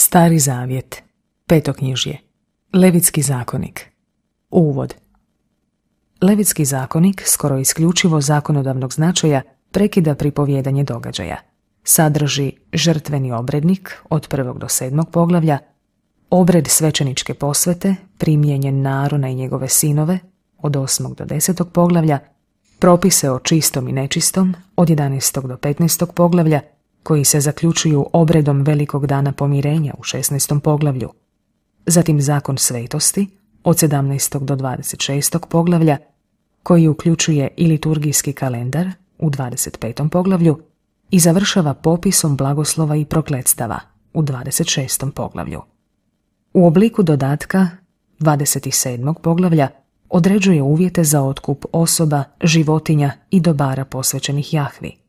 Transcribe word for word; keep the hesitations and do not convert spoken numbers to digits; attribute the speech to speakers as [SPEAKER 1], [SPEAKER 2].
[SPEAKER 1] Stari zavjet, petoknjižje, Levitski zakonik. Uvod. Levitski zakonik, skoro isključivo zakonodavnog značaja, prekida pripovijedanje događaja. Sadrži žrtveni obrednik od prvog do sedmog poglavlja, obred svećeničke posvete, primjenjen na Arona i njegove sinove od osmog do desetog poglavlja, propise o čistom i nečistom od jedanaestog do petnaestog poglavlja, koji se zaključuju obredom velikog dana pomirenja u šesnaestom poglavlju, zatim zakon svetosti od sedamnaestog do dvadeset šestog poglavlja, koji uključuje i liturgijski kalendar u dvadeset petom poglavlju i završava popisom blagoslova i prokletstava u dvadeset šestom poglavlju. U obliku dodatka dvadeset sedmog poglavlja određuje uvjete za otkup osoba, životinja i dobara posvećenih Jahvi.